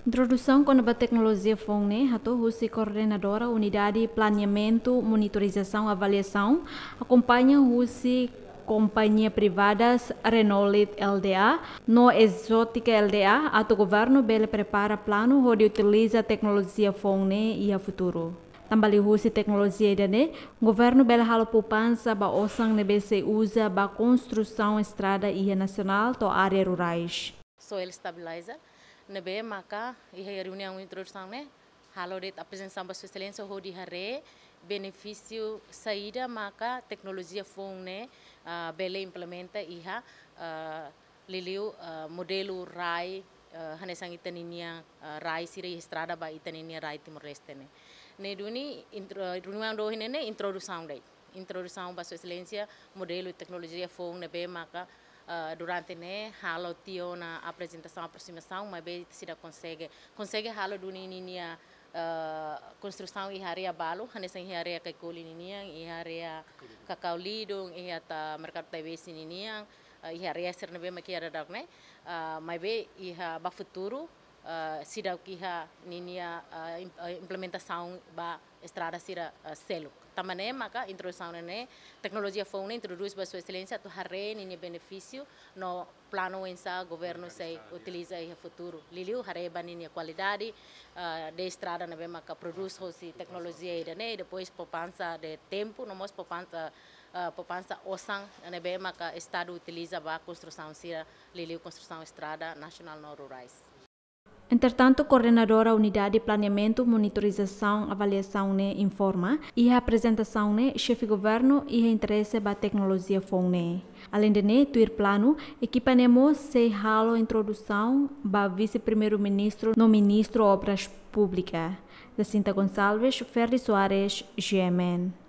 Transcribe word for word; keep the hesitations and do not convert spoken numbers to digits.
Introdusaun kona-ba teknolojia foun ne'e hato'o husi Koordenadora Unidade Planeamentu, Monitorizasaun, Avaliasaun, akompaña husi kompañia privadas Renault Ltda no Exotica Ltda, atu governu bele prepara planu hodi utiliza teknolojia foun ne'e iha futuru. Tanba liuhusi teknolojia ida-ne'e, governu bele halo poupansa ba osan ne'ebé sei uza ba konstrusaun estrada iha nasionál to'o área rurais. Soil stabilizer, ne'ebé maka iha reuniaun introdusaun ne'e halo de'it aprezentasaun ba Sua Exelénsia hodi haree benefísiu saida maka teknolojia foun ne'e, ah, bele implementa iha, ah, liuliu, ah, modelu rai, ah, hanesan ita-ninia, ah, rai sira iha estrada ba ita-ninia rai Timor-Leste ne'e. Ne'e duni intro-, reuniaun dohin ne'e introdusaun de'it. Introdusaun ba Sua Exelénsia modelu teknolojia foun ne'ebé maka, ah, durante ne'e halo tiha ona aprezentasaun, aprosimasaun, maibé seidauk konsege, konsege halo duni ninia, ah, konstrusaun iha área balu, hanesan iha área Kaikoli ninian, iha área Kakau Lidung, iha ita merkadu Taibesi ninian, ah, iha área sira ne'ebé maka iha daudaun ne'e, ah, maibé iha ba futuru, ah, seidauk iha ninia, ah, im-, ah, implementasaun ba estrada sira, ah, seluk. Tanba ne'e maka introdusaun ne'e, teknolojia foun ne'e introdús ba Sua Exelénsia atu haree ninia benefísiu no planu oinsá governu sei utiliza iha futuru. Liuliu haree ba ninia kualidade, ah, de estrada ne'ebé maka prodús hosi teknolojia ida-ne'e, depois poupansa de tempu, no mós poupansa, ah, poupansa osan ne'ebé maka Estadu utiliza ba konstrusaun sira, liuliu konstrusaun estrada nasionál no rurais. Entretantu, Koordenadora Unidade Planeamentu, Monitorizasaun, Avaliasaun ne'e informa, iha aprezentasaun ne'e, Xefe Governu iha interese ba teknolojia foun ne'e. Aleinde ne'e, tuir planu, ekipa ne'e mós sei halo introdusaun ba Vise-Primeiru-Ministru no Ministru Obras Públikas. Jacinta Gonçalves, Ferdi Soares, G M N.